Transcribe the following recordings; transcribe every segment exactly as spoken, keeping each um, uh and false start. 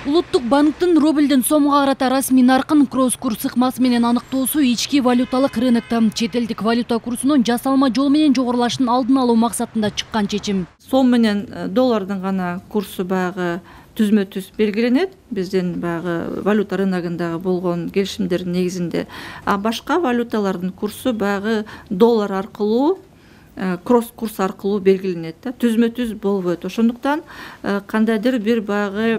Улуттук банктын рубльдин сомго карата расмий наркын кросс курс ыкмасы менен аныктоосу ички валюталык рынокто чет элдик валюта курсунун жасалма жол менен жогорулашын алдын алуу максатында чыккан чечим. Сом менен доллардын гана курсу баягы түзмө түз белгиленет биздин баягы валюта рыногундагы болгон келишимдердин негизинде. А башка валюталардын курсу баягы доллар аркылуу кросс курс аркылуу белгиленет да, түзмө түз болбойт. Ошондуктан кандайдыр бир баягы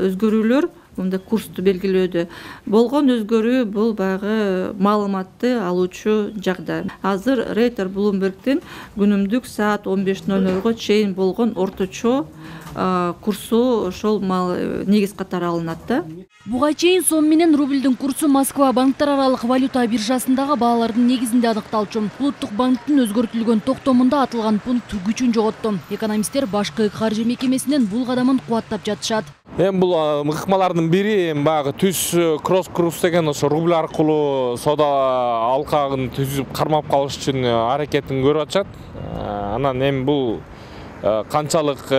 өзгөрүүлөр мындай курсту белгилөөдө болгон өзгөрүү бул баягы маалыматты алуучу жагдай. Азыр Рейтер Bloomberg'дин күнүмдүк саат он беш ноль нольго чейин болгон орточо курсу ошол негиз катары алынат да. Буга чейин сом менен рубльдин курсу Москва банктар аралык валюта биржасындагы баалардын негизинде аныкталчу. Улуттук банктын өзгөртүлгөн токтомунда атылган пункт күчүн жоготту. Экономисттер башкы каржы мекемесинен бул кадамын кубаттап жатышат. Эми бул ыкмалардын бири баягы түз кросс курс деген ошо рубль аркылуу соода алкагын түзүп кармап калыш үчүн аракетин көрүп атышат. Анан эми бул канчалык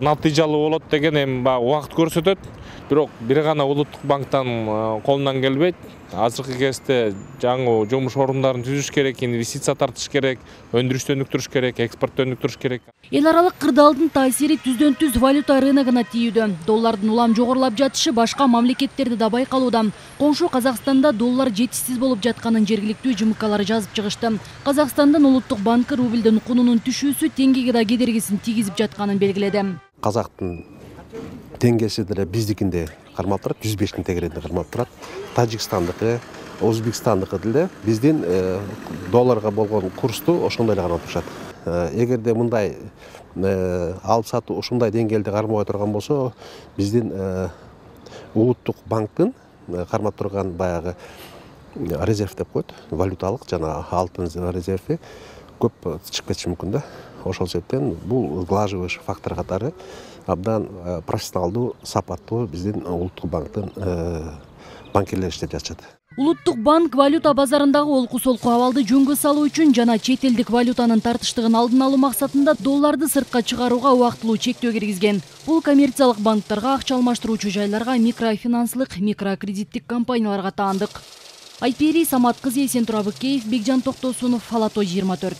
натыйжалуу болот деген эми баягы убакыт көрсөтөт. Бирок бир гана улуттук банктан колунан келбейт. Азыркы кезде жаңы жумуш орундарын түзүш керек, инвестиция тартыш керек, өндүрүштү өнүктүрүш керек, экспортту өнүктүрүш керек. Эл аралык кырдаалдын таасири түздөн түз валюта рыногуна тийүүдө. Доллардын улам жогорулап жатышы башка мамлекеттерде да байкалууда. Коңшу Казакстанда доллар жетишсиз болуп жатканын жергиликтүү жымкалары жазып чыгышты. Казакстандын улуттук банкы рубльдин кунунун түшүүсү теңгеге да кедергисин тийгизип жатканын белгиледи. Казактын теңгеси деле биздикинде кармалып турат, жүз бештин тегерегинде кармалып турат. Тажикстандыкы, Өзбекстандыкы деле биздин долларга болгон курсту ошондой эле кармап турушат. Эгерде мындай алып сатуу ушундай деңгээлде кармабай турган болсо, биздин улуттук банктын кармап турган баягы резерв деп коет, валюталык жана алтын резерви көп чыгып кетиши мүмкүн да. Ошол себептен бул сглаживающий фактор катары абдан профессионалдуу, сапаттуу биздин улуттук банктын банкирлери иштеп жатышат. Улуттук банк валюта базарындагы олку-солку абалды жөнгө салуу үчүн жана чет элдик валютанын тартыштыгын алдын алуу максатында долларды сыртка чыгарууга убактылуу чектөө киргизген. Бул коммерциялык банктарга, акча алмаштыруучу жайларга, микрофинанслык, микрокредиттик компанияларга таандык. Айпери Самат кызы, Эсентур Абыкеев, Бекжан Токтосунов, Ала той жыйырма төрт.